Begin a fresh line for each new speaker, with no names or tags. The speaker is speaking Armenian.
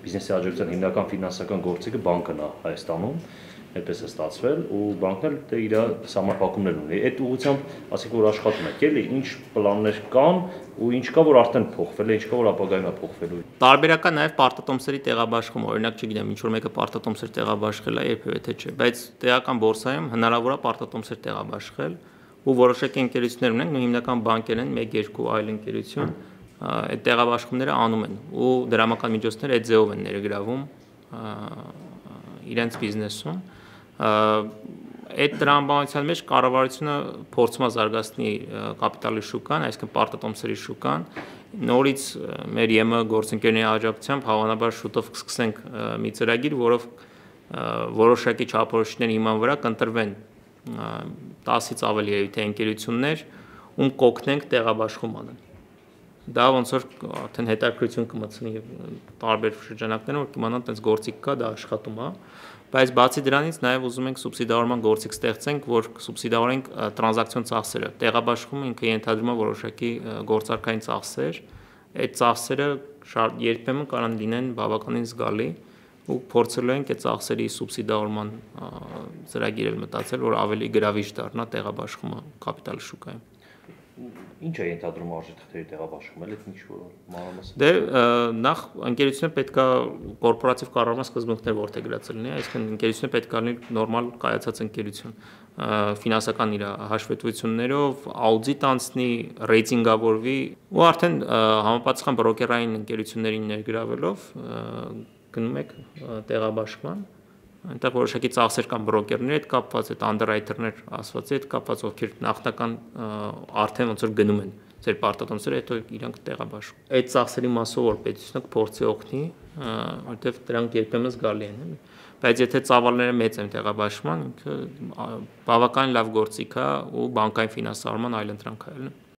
բիզնեսի աջակցության հիմնական ֆինանսական գործիքը բանկն է Հայաստանում, այդպես է ստացվել ու բանկն էլ իր սահմանափակումներ ունի։ Այդ ուղղությամբ, ասենք որ աշխատում եք, էլի, ինչ պլաններ կան ու ինչ կա որ արդեն փոխվել է, ինչ կա որ ապագայում է փոխվելու։
Տարբերակ է նաև պարտատոմսերի տեղաբաշխումը, օրինակ չգիտեմ, ինչ որ մեկը պարտատոմսեր տեղաբաշխել է, երբևէ թե չէ, բայց տեղական բորսայում հնարավոր է պարտատոմսեր տեղաբաշխել ու որոշակի ընկերություններ ունենք, ու հիմնական բանկեր են, 1-2 այլ ընկերություն, այդ տեղաբաշխումները անում են ու դրամական միջոցներ այդ ձևով են ներգրավում իրենց բիզնեսում։ Այդ տրամաբանության մեջ կառավարությունը փորձում է զարգացնի կապիտալի շուկան, այսինքն պարտատոմսերի շուկան։ Նորից մեր ԵՄ գործընկերների աջակցությամբ հավանաբար շուտով կսկսենք մի ծրագիր, որով որոշակի չափորոշիչների հիման վրա կընտրվեն 10-ից ավելի թե ընկերություններ, ում կօգնենք տեղաբաշխում անել։ Դա ոնց որ արդեն հետաքրքրություն կմտցնի տարբեր շրջանակներում, որ կիմանան այդպես գործիք կա, դա աշխատում է, բայց բացի դրանից նաև ուզում ենք սուբսիդավորման գործիք ստեղծենք, որ սուբսիդավորենք տրանզակցիոն ծախսերը։ Տեղաբաշխումը ինքը ենթադրում է որոշակի գործարքային ծախսեր, այդ ծախսերը երբեմն կարող լինեն բավականին զգալի ու փորձելու ենք այդ ծախսերի սուբսիդավորման ծրագիր էլ մտածել, որ ավելի գրավիչ դառնա տեղաբաշխումը կապիտալի շուկայում։
Ինչ է ենթադրում արժեթղթերի տեղաբաշխումը, այդ ինչ որ մանրամասն։
Դե նախ ընկերությունը պետք է կորպորատիվ կառավարման սկզբունքներ որդեգրած լինի, այսինքն ընկերությունը պետք է լինի նորմալ կայացած ընկերություն, ֆինանսական իր հաշվետվություններով, աուդիտ անցնի, ռեյտինգավորվի ու արդեն համապատասխան բրոկերային ընկերություններին ներգրավելով գնում եք տեղաբաշխման։ Այնտեղ որոշակի ծախսեր կան բրոկերների հետ կապված, այդ անդերրայթերներ ասվածի հետ կապված, ովքեր նախնական արդեն ոնց որ գնում են ձեր պարտատոմսերը, հետո իրանք տեղաբաշխում։ Այդ ծախսերի մասով որ պետությունը կփորձի օգնի, որտեղ դրանք երբեմն զգալի են, բայց եթե ծավալները մեծ են տեղաբաշխման, ինքը բավական լավ գործիք է ու բանկային ֆինանսավորման այլ ընտրանք է,